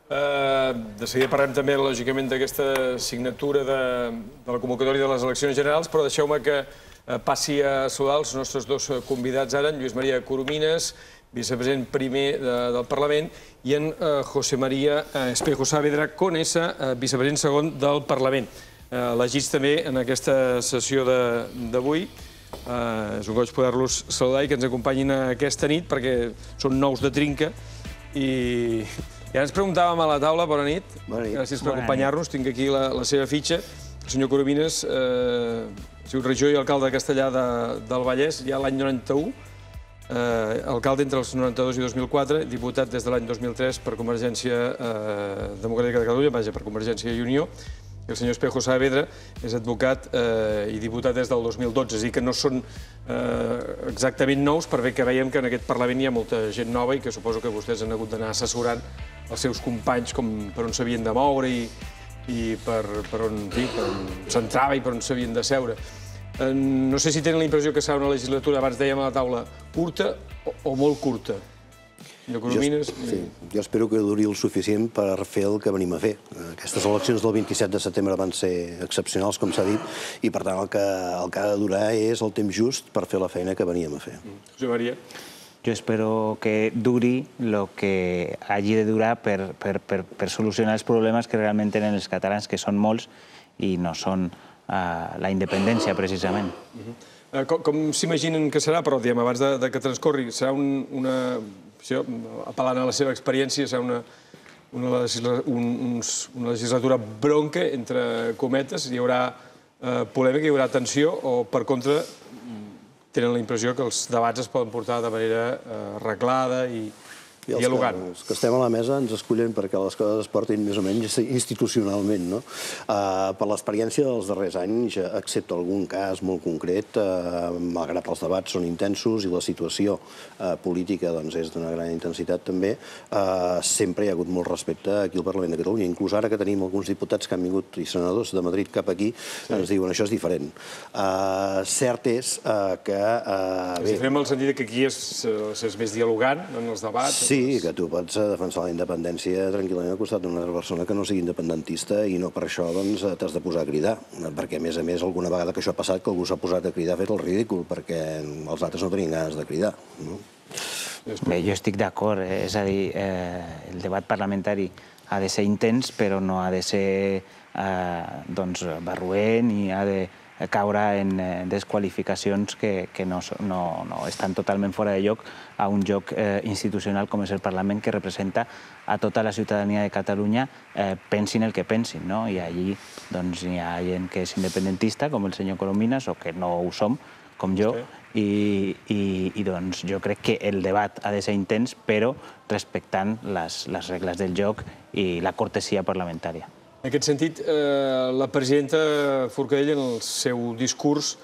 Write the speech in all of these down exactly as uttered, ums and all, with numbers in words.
De seguida parlem també, lògicament, d'aquesta signatura de la convocatòria de les eleccions generals, però deixeu-me que passi a saludar els nostres dos convidats ara, en Lluís Maria Coromines, vicepresident primer del Parlament, i en José María Espejo Saavedra Conesa, vicepresident segon del Parlament. Elegits també en aquesta sessió d'avui. És un goig poder-los saludar i que ens acompanyin aquesta nit, perquè són nous de trinca. I ja ens preguntàvem a la taula, bona nit, gràcies per acompanyar-nos, tinc aquí la seva fitxa. El senyor Coromines ha sigut regidor i alcalde de Castellar del Vallès ja l'any noranta-u, alcalde entre els noranta-dos i dos mil quatre, diputat des de l'any dos mil tres per Convergència Democràtica de Catalunya, vaja, per Convergència i Unió. El senyor Espejo Saavedra és advocat i diputat des del dos mil dotze, és a dir, que no són exactament nous, per bé que veiem que en aquest Parlament hi ha molta gent nova i que suposo que vostès han hagut d'anar assessorant els seus companys per on s'havien de moure i per on s'entrava i per on s'havien de seure. No sé si tenen la impressió que serà una legislatura, abans dèiem a la taula, curta o molt curta. Jo espero que duri el suficient per fer el que venim a fer. Aquestes eleccions del vint-i-set de setembre van ser excepcionals, com s'ha dit, i per tant el que ha de durar és el temps just per fer la feina que veníem a fer. José María. Yo espero que duri lo que hagi de durar per solucionar els problemes que realment tenen els catalans, que són molts i no són la independència, precisament. Com s'imaginen que serà, però abans que transcorri, serà una, apel·lant a la seva experiència, serà una legislatura bronca, entre cometes, hi haurà polèmica, hi haurà tensió, o per contra tenen la impressió que els debats es poden portar de manera arreglada i dialogant. Els que estem a la mesa ens escullen perquè les coses es portin més o menys institucionalment. Per l'experiència dels darrers anys, excepte algun cas molt concret, malgrat els debats són intensos i la situació política és d'una gran intensitat també, sempre hi ha hagut molt respecte aquí al Parlament de Catalunya. Inclús ara que tenim alguns diputats que han vingut i senadors de Madrid cap aquí, ens diuen això és diferent. Cert és que... És diferent en el sentit que aquí és més dialogant en els debats? Sí, que tu pots defensar la independència tranquil·lament al costat d'una altra persona que no sigui independentista i no per això t'has de posar a cridar, perquè a més a més alguna vegada que això ha passat que algú s'ha posat a cridar ha fet el ridícul, perquè els altres no tenien ganes de cridar. Bé, jo estic d'acord, és a dir, el debat parlamentari ha de ser intens, però no ha de ser barroent i ha de caure en desqualificacions que no estan totalment fora de lloc a un lloc institucional com és el Parlament, que representa a tota la ciutadania de Catalunya, pensin el que pensin. I allí hi ha gent que és independentista, com el senyor Coromines, o que no ho som, com jo, i jo crec que el debat ha de ser intens, però respectant les regles del joc i la cortesia parlamentària. En aquest sentit, la presidenta Forcadell, en el seu discurs,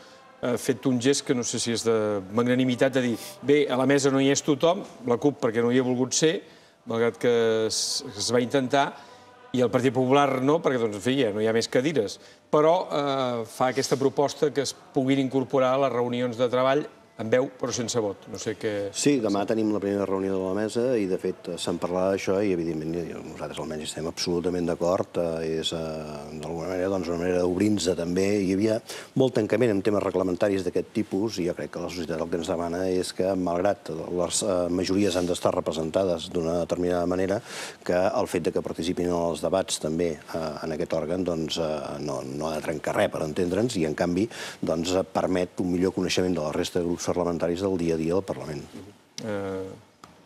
ha fet un gest que no sé si és de magnanimitat, de dir, bé, a la mesa no hi és tothom, la CUP perquè no hi ha volgut ser, malgrat que es va intentar, i el Partit Popular no, perquè, doncs, en fi, ja no hi ha més cadires. Però fa aquesta proposta que es puguin incorporar a les reunions de treball amb veu, però sense vot. No sé què... Sí, demà tenim la primera reunió de la mesa i, de fet, se'n parlarà d'això i, evidentment, nosaltres almenys estem absolutament d'acord. És, d'alguna manera, una manera d'obrir-nos també. Hi havia molt tancament en temes reglamentaris d'aquest tipus i jo crec que la societat el que ens demana és que, malgrat les majories han d'estar representades d'una determinada manera, que el fet que participin en els debats també en aquest òrgan no ha de trencar res, per entendre'ns, i, en canvi, permet un millor coneixement de la resta de grups parlamentaris del dia a dia del Parlament.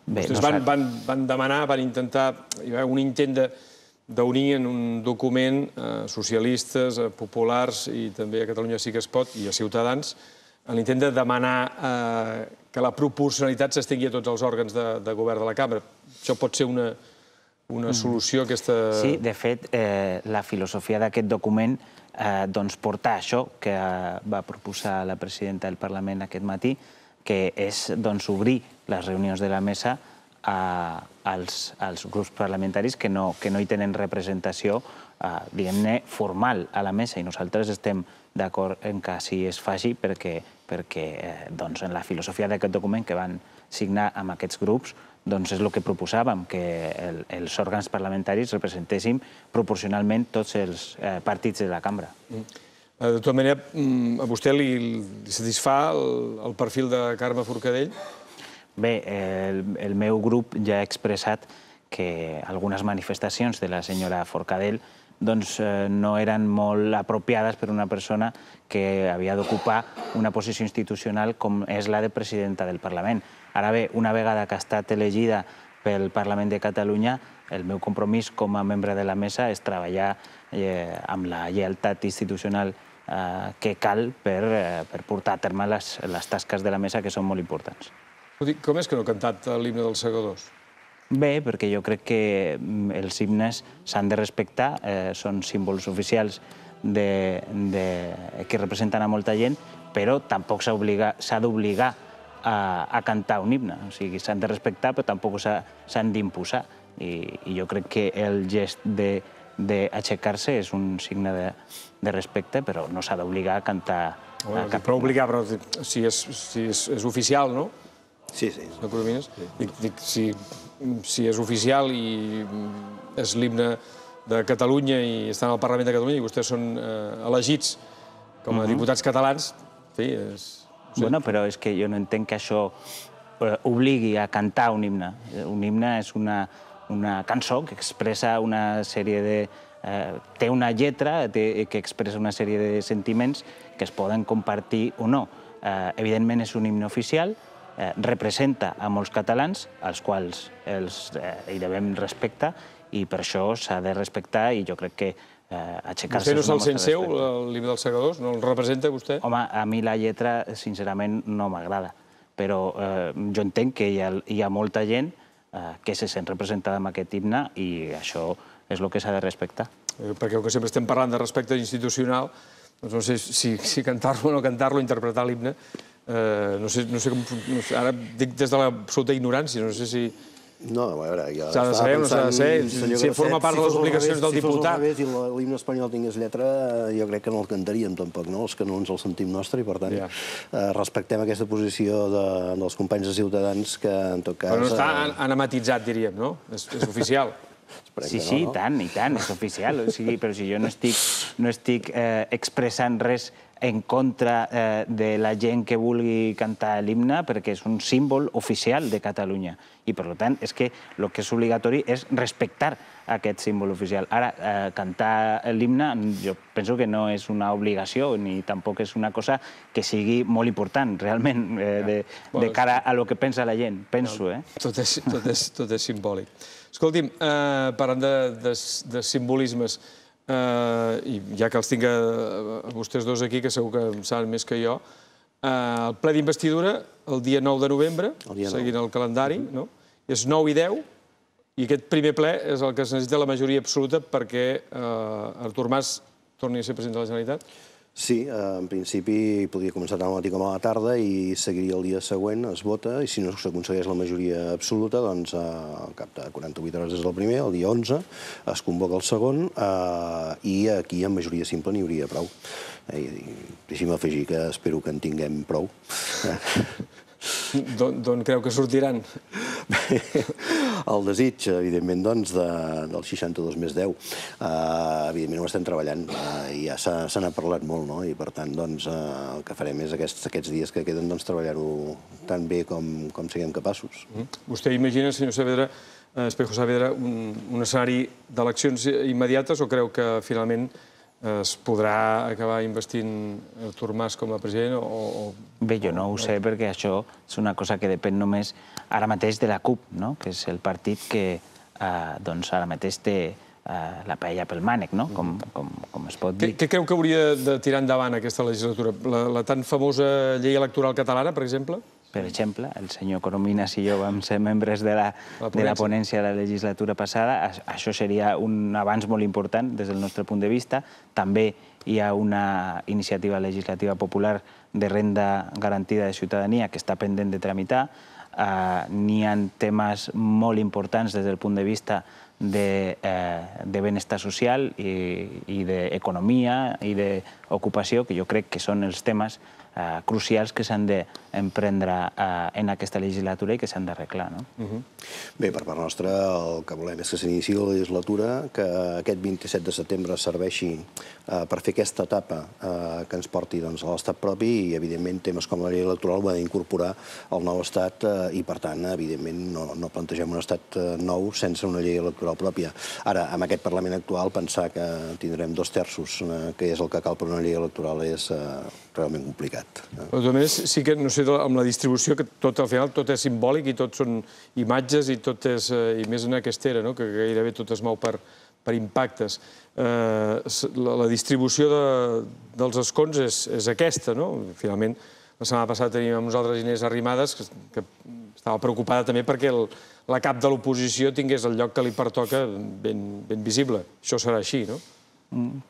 Vostès van demanar, van intentar, hi va haver un intent d'unir en un document socialistes, populars i també a Catalunya Sí que es pot i a Ciutadans, en l'intent de demanar que la proporcionalitat s'estengui a tots els òrgans de govern de la cambra. Això pot ser una solució, aquesta... Sí, de fet, la filosofia d'aquest document portar això que va proposar la presidenta del Parlament aquest matí, que és obrir les reunions de la mesa als grups parlamentaris que no hi tenen representació, diguem-ne, formal a la mesa. I nosaltres estem d'acord en que així es faci perquè en la filosofia d'aquest document que van signar amb aquests grups doncs és el que proposàvem, que els òrgans parlamentaris representéssim proporcionalment tots els partits de la cambra. De tota manera, a vostè li satisfà el perfil de Carme Forcadell? Bé, el meu grup ja ha expressat que algunes manifestacions de la senyora Forcadell no eren molt apropiades per una persona que havia d'ocupar una posició institucional com és la de presidenta del Parlament. Ara bé, una vegada que ha estat elegida pel Parlament de Catalunya, el meu compromís com a membre de la mesa és treballar amb la lleialtat institucional que cal per portar a terme les tasques de la mesa, que són molt importants. Com és que no ha cantat l'himne dels segadors? Bé, perquè jo crec que els himnes s'han de respectar, són símbols oficials que representen a molta gent, però tampoc s'ha d'obligar a cantar un himne. O sigui, s'han de respectar, però tampoc s'han d'imposar. I jo crec que el gest d'aixecar-se és un signe de respecte, però no s'ha d'obligar a cantar cap himne. Però obligar, però si és oficial, no? Sí, sí. Dic, si és oficial i és l'himne de Catalunya i estan al Parlament de Catalunya i vostès són elegits com a diputats catalans, en fi, és... Bueno, però és que jo no entenc que això obligui a cantar un himne. Un himne és una cançó que expressa una sèrie de... té una lletra que expressa una sèrie de sentiments que es poden compartir o no. Evidentment és un himne oficial, representa a molts catalans, als quals hi devem respecte, i per això s'ha de respectar, i jo crec que aixecar-se... Vostè no se'l sent seu, l'himne dels segadors? No el representa, vostè? Home, a mi la lletra, sincerament, no m'agrada, però jo entenc que hi ha molta gent que se sent representada amb aquest himne i això és el que s'ha de respectar. Perquè com que sempre estem parlant de respecte institucional, doncs no sé si cantar-lo o no cantar-lo, interpretar l'himne, no sé com... Ara dic des de l'absoluta ignorància, no sé si... No, a veure, jo... S'ha de saber o no s'ha de saber? Si forma part de les obligacions del diputat... Si fos al revés i l'himne espanyol tingués lletra, jo crec que no el cantaríem tampoc, no? Els que no ens el sentim nostre i, per tant, respectem aquesta posició dels companys de Ciutadans que, en tot cas... Però no està anamatitzat, diríem, no? És oficial. Sí, sí, i tant, i tant, és oficial. Però si jo no estic expressant res en contra de la gent que vulgui cantar l'himne, perquè és un símbol oficial de Catalunya. I, per tant, és que el que és obligatori és respectar aquest símbol oficial. Ara, cantar l'himne jo penso que no és una obligació ni tampoc és una cosa que sigui molt important, realment, de cara a lo que pensa la gent, penso, eh? Tot és simbòlic. Escolti'm, parlant de simbolismes, i ja que els tinc a vostès dos aquí, que segur que en saben més que jo, el ple d'investidura el dia nou de novembre, seguint el calendari, és nou i deu, i aquest primer ple és el que es necessita la majoria absoluta perquè Artur Mas torni a ser president de la Generalitat? Sí, en principi podria començar tant al matí com a la tarda i seguiria el dia següent, es vota, i si no s'aconsegueix la majoria absoluta, doncs al cap de quaranta-vuit hores és el primer, el dia onze, es convoca el segon, i aquí amb majoria simple n'hi hauria prou. Deixi'm afegir que espero que en tinguem prou. D'on creu que sortiran? El desig, evidentment, doncs, del seixanta-dos més deu. Evidentment ho estem treballant, i ja se n'ha parlat molt, no? I per tant, doncs, el que farem és aquests dies que queden treballar-ho tan bé com siguem capaços. Vostè imagina, senyor Saavedra, Espejo Saavedra, un escenari d'eleccions immediates o creu que finalment es podrà acabar investint Artur Mas com a president? Bé, jo no ho sé, perquè això és una cosa que depèn només ara mateix de la CUP, que és el partit que ara mateix té la paella pel mànec, com es pot dir. Què creu que hauria de tirar endavant aquesta legislatura? La tan famosa llei electoral catalana, per exemple? Per exemple, el senyor Corominas i jo vam ser membres de la ponència de la legislatura passada. Això seria un avanç molt important des del nostre punt de vista. També hi ha una iniciativa legislativa popular de renda garantida de ciutadania que està pendent de tramitar. N'hi ha temes molt importants des del punt de vista de benestar social i d'economia i d'ocupació, que jo crec que són els temes crucials que s'han d'emprendre en aquesta legislatura i que s'han d'arreglar. Bé, per part nostra, el que volem és que s'iniciï la legislatura, que aquest vint-i-set de setembre serveixi per fer aquesta etapa que ens porti a l'estat propi i, evidentment, temes com la llei electoral ho ha d'incorporar al nou estat i, per tant, evidentment, no plantegem un estat nou sense una llei electoral pròpia. Ara, amb aquest Parlament actual, pensar que tindrem dos terços, que és el que cal per una llei electoral, és realment complicat. Però també sí que, no sé, amb la distribució, que tot al final tot és simbòlic i tot són imatges i tot és, i més en aquesta era, que gairebé tot es mou per impactes. La distribució dels escons és aquesta, no? Finalment, la setmana passada teníem amb nosaltres Inés Arrimadas, que estava preocupada també perquè la cap de l'oposició tingués el lloc que li pertoca ben visible. Això serà així, no?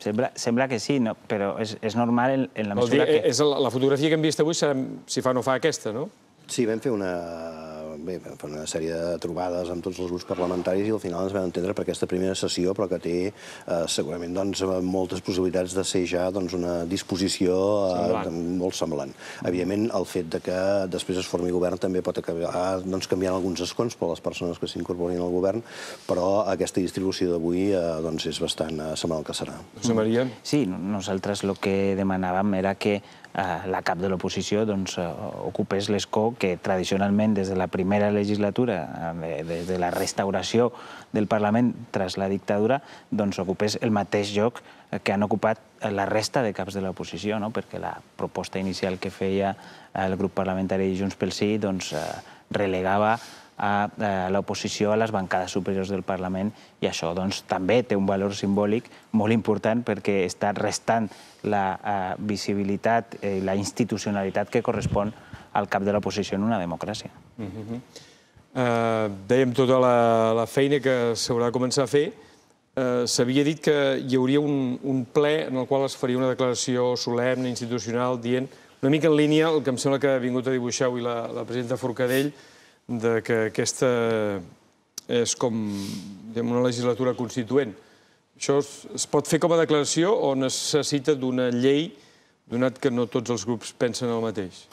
Sembla que sí, però és normal en la mesura que... La fotografia que hem vist avui serà si fa o no fa aquesta, no? Sí, vam fer una... Bé, vam fer una sèrie de trobades amb tots els grups parlamentaris i al final ens vam entendre per aquesta primera sessió, però que té segurament moltes possibilitats de ser ja una disposició molt semblant. Evidentment, el fet que després es formi govern també pot acabar canviant alguns escons per a les persones que s'incorporin al govern, però aquesta distribució d'avui és bastant semblant al que serà. José María? Sí, nosaltres el que demanàvem era que la cap de l'oposició ocupés l'escó que tradicionalment des de la primera legislatura, des de la restauració del Parlament tras la dictadura, ocupés el mateix lloc que han ocupat la resta de caps de l'oposició, perquè la proposta inicial que feia el grup parlamentari Junts pel Sí relegava a l'oposició a les bancades superiors del Parlament i això també té un valor simbòlic molt important perquè està restant la visibilitat i la institucionalitat que correspon al cap de l'oposició en una democràcia. Dèiem tota la feina que s'haurà de començar a fer. S'havia dit que hi hauria un ple en el qual es faria una declaració solemne, institucional, dient una mica en línia el que em sembla que ha vingut a dibuixar avui la presidenta Forcadell, que aquesta és com una legislatura constituent. Això es pot fer com a declaració o necessita d'una llei, donat que no tots els grups pensen el mateix?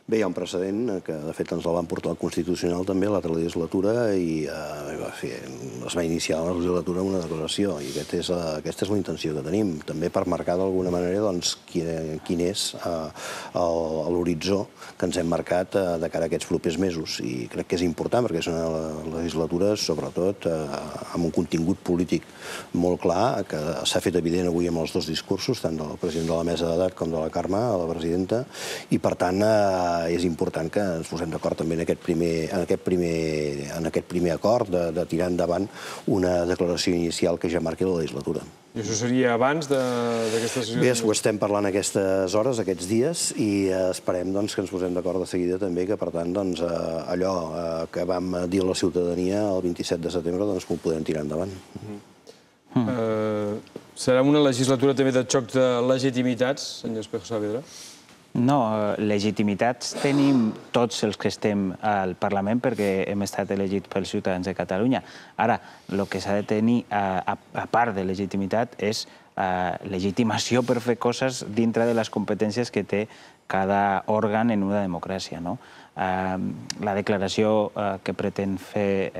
Bé, hi ha un precedent que, de fet, ens el van portar al Constitucional també, a l'altra legislatura, i es va iniciar la legislatura amb una declaració, i aquesta és la intenció que tenim, també per marcar d'alguna manera quin és l'horitzó que ens hem marcat de cara a aquests propers mesos, i crec que és important perquè és una legislatura, sobretot, amb un contingut polític molt clar, que s'ha fet evident avui amb els dos discursos, tant del president de la Mesa d'Edat com de la Carme, la presidenta, i, per tant, és important que ens posem d'acord també en aquest primer acord de tirar endavant una declaració inicial que ja marqui la legislatura. I això seria abans d'aquesta sessió? Bé, ho estem parlant aquestes hores, aquests dies, i esperem que ens posem d'acord de seguida també que, per tant, allò que vam dir a la ciutadania el vint-i-set de setembre, que ho podem tirar endavant. Serà una legislatura també de xoc de legitimitats, senyor Espejo Saavedra? No, legitimitats tenim tots els que estem al Parlament perquè hem estat elegits pels ciutadans de Catalunya. Ara, el que s'ha de tenir, a part de legitimitat, és legitimació per fer coses dintre de les competències que té cada òrgan en una democràcia. La declaració que pretén fer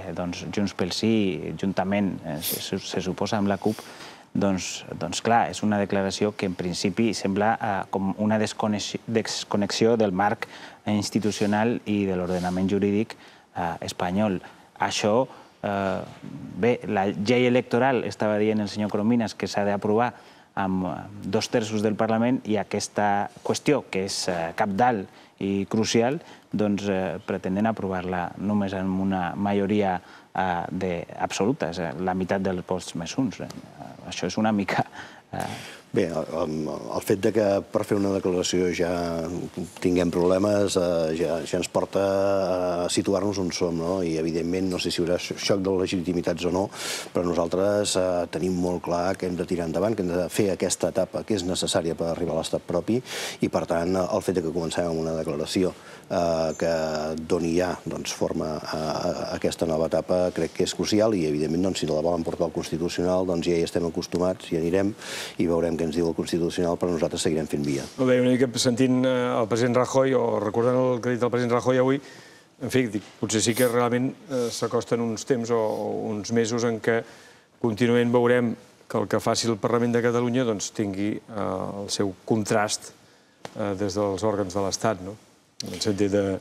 Junts pel Sí, juntament, se suposa, amb la CUP, doncs, clar, és una declaració que en principi sembla com una desconnexió del marc institucional i de l'ordenament jurídic espanyol. Això, bé, la llei electoral, estava dient el senyor Corominas, que s'ha d'aprovar amb dos terços del Parlament, i aquesta qüestió, que és cabdal i crucial, doncs pretenen aprovar-la només amb una majoria absoluta, la meitat dels vots més uns. Això és una mica... Bé, el fet que per fer una declaració ja tinguem problemes ja ens porta a situar-nos on som, i evidentment no sé si hi haurà xoc de legitimitats o no, però nosaltres tenim molt clar que hem de tirar endavant, que hem de fer aquesta etapa que és necessària per arribar a l'estat propi, i per tant el fet que comencem amb una declaració que doni ja forma a aquesta nova etapa crec que és crucial, i evidentment si la volen portar al Constitucional ja hi estem acostumats, hi anirem i veurem què ens diu el Constitucional, però nosaltres seguirem fent via. Molt bé, una mica sentint el president Rajoy, o recordant el que ha dit el president Rajoy avui, en fi, potser sí que realment s'acosten uns temps o uns mesos en què contínuament veurem que el que faci el Parlament de Catalunya tingui el seu contrast des dels òrgans de l'Estat, no? En el sentit de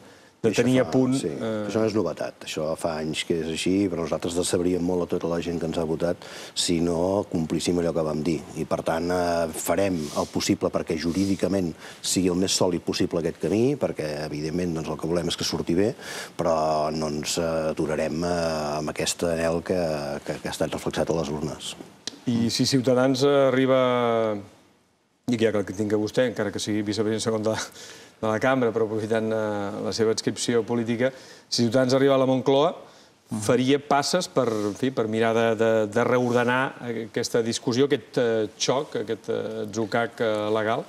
tenir a punt... Sí, això no és novetat. Això fa anys que és així, però nosaltres decebríem molt a tota la gent que ens ha votat si no complíssim allò que vam dir. I, per tant, farem el possible perquè jurídicament sigui el més sòlid possible aquest camí, perquè, evidentment, el que volem és que surti bé, però no ens aturarem amb aquest anhel que ha estat reflexat a les urnes. I si Ciutadans arriba... I ja que tinc a vostè, encara que sigui vicepresident segon de la cambra, però aprofitant la seva adscripció política, si Ciutadans arriba a la Moncloa, faria passes per mirar de reordenar aquesta discussió, aquest xoc, aquest atzucac legal?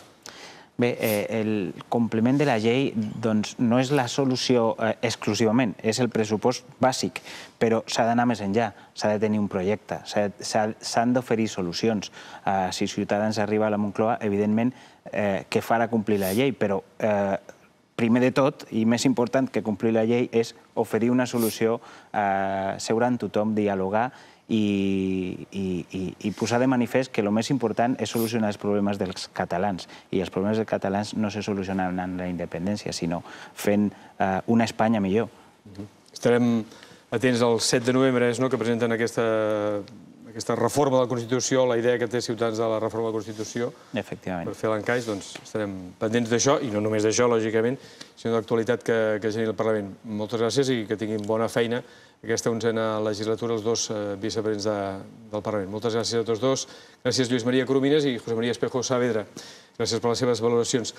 Bé, el compliment de la llei no és la solució exclusivament, és el pressupost bàsic, però s'ha d'anar més enllà, s'ha de tenir un projecte, s'han d'oferir solucions. Si Ciutadans arriba a la Moncloa, evidentment que farà complir la llei, però primer de tot, i més important que complir la llei, és oferir una solució, seure amb tothom, dialogar i posar de manifest que el més important és solucionar els problemes dels catalans. I els problemes dels catalans no se solucionen amb la independència, sinó fent una Espanya millor. Estarem atents al set de novembre, que presenten aquesta reforma de la Constitució, la idea que té Ciutadans de la reforma de la Constitució. Efectivament. Per fer l'encaix, doncs estarem pendents d'això, i no només d'això, lògicament, sinó de l'actualitat que generi el Parlament. Moltes gràcies i que tinguin bona feina aquesta onzena legislatura els dos vicepresidents del Parlament. Moltes gràcies a tots dos. Gràcies Lluís Maria Coromines i José María Espejo Saavedra. Gràcies per les seves valoracions.